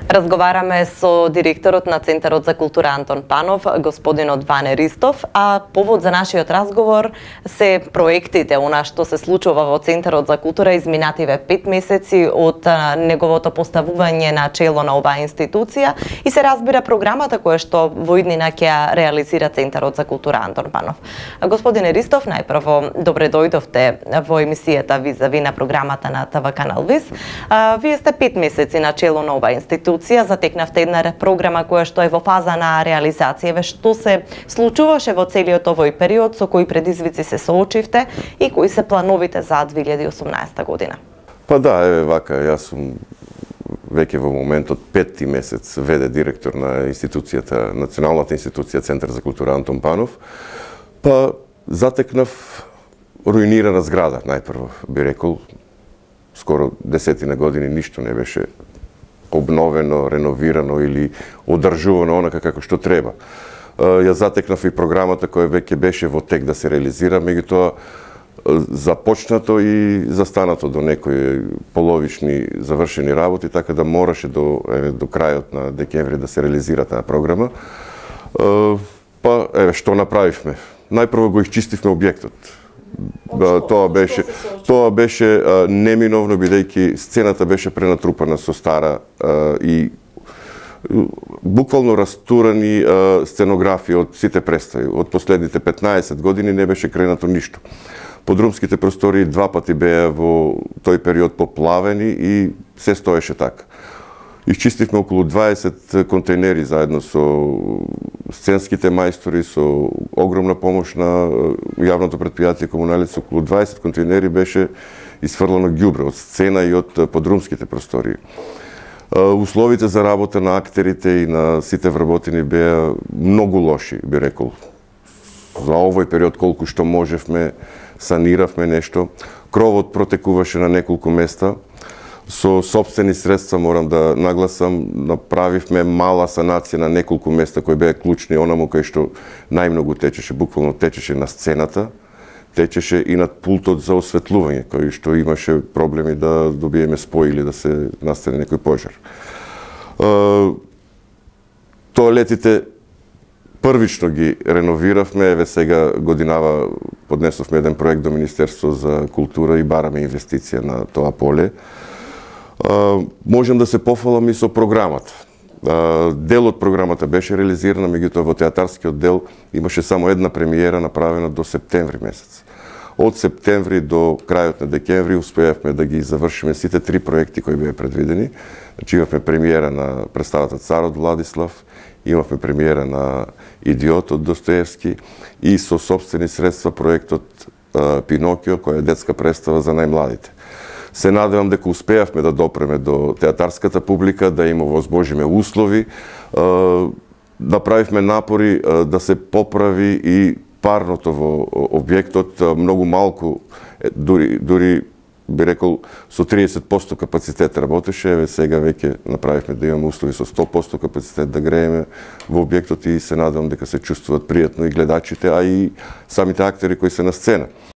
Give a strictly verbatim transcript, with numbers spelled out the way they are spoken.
Разговараме со директорот на Центарот за култура Антон Панов, господинот Ване Ристов, а повод за нашиот разговор се проектите, она што се случува во Центарот за култура изминативе пет месеци од неговото поставување на чело на оваа институција и се разбира програмата која што во иднина ќе ја реализира Центарот за култура Антон Панов. Господине Ристов, најпрво добре дојдовте во емисијата Визави на програмата на ТВ Канал Виз. Вие сте пет месеци на чело на оваа институција. Затекнавте една програма која што е во фаза на реализација. Што се случуваше во целиот овој период, со кои предизвици се соочивте и кои се плановите за две илјади и осумнаесета година? Па да, еве вака, јас сум веќе во моментот петти месец веде директор на институцијата, националната институција Центар за култура Антон Панов. Па затекнав руинирана зграда, најпрво би рекол. Скоро десетина години ништо не беше обновено, реновирано или одржувано онака како што треба. Ја затекнав и програмата која веќе беше во тек да се реализира, меѓутоа започнато и застанато до некои половични завршени работи, така да мораше до, еве, до крајот на декември да се реализира таа програма. Па, еве, што направивме? Најпрво го исчистивме објектот. Тоа беше тоа беше а, неминовно, бидејќи сцената беше пренатрупана со стара а, и буквално растурани а, сценографии од сите представи. Од последните петнаесет години не беше кренато ништо. Подрумските простори два пати беа во тој период поплавени и се стоеше така. Исчистивме околу дваесет контейнери заедно со сценските мајстори, со огромна помош на јавното претпријатие Комуналец. Околу дваесет контейнери беше исфрлено ѓубре од сцена и од подрумските простори. Условите за работа на актерите и на сите вработени беа многу лоши, би рекол. За овој период колку што можевме, саниравме нешто. Кровот протекуваше на неколку места. Со сопствени средства, морам да нагласам, направивме мала санација на неколку места кои беа клучни, онаму кај што најмногу течеше, буквално течеше на сцената, течеше и над пултот за осветлување, кој што имаше проблеми да добиеме спој или да се настане некој пожар. Тоалетите првично ги реновиравме, еве сега годинава поднесовме еден проект до Министерство за култура и бараме инвестиција на тоа поле. Uh, можем да се пофалам и со програмата. Uh, дел од програмата беше реализирана, меѓутоа во театарскиот дел имаше само една премиера направена до септември месец. Од септември до крајот на декември успеавме да ги завршиме сите три проекти кои беа предвидени. Значи имавме премиера на представата Царот Владислав, имавме премиера на Идиот од Достоевски и со сопствени средства проектот uh, Пинокио, која е детска представа за најмладите. Се надевам дека успеавме да допреме до театарската публика, да им овозможиме услови, направивме напори да се поправи и парното во објектот, многу малку, дури, дури би рекол со триесет проценти капацитет работеше, еве сега веќе направивме да имаме услови со сто проценти капацитет да грееме во објектот и се надевам дека се чувствуваат пријатно и гледачите, а и самите актери кои се на сцена.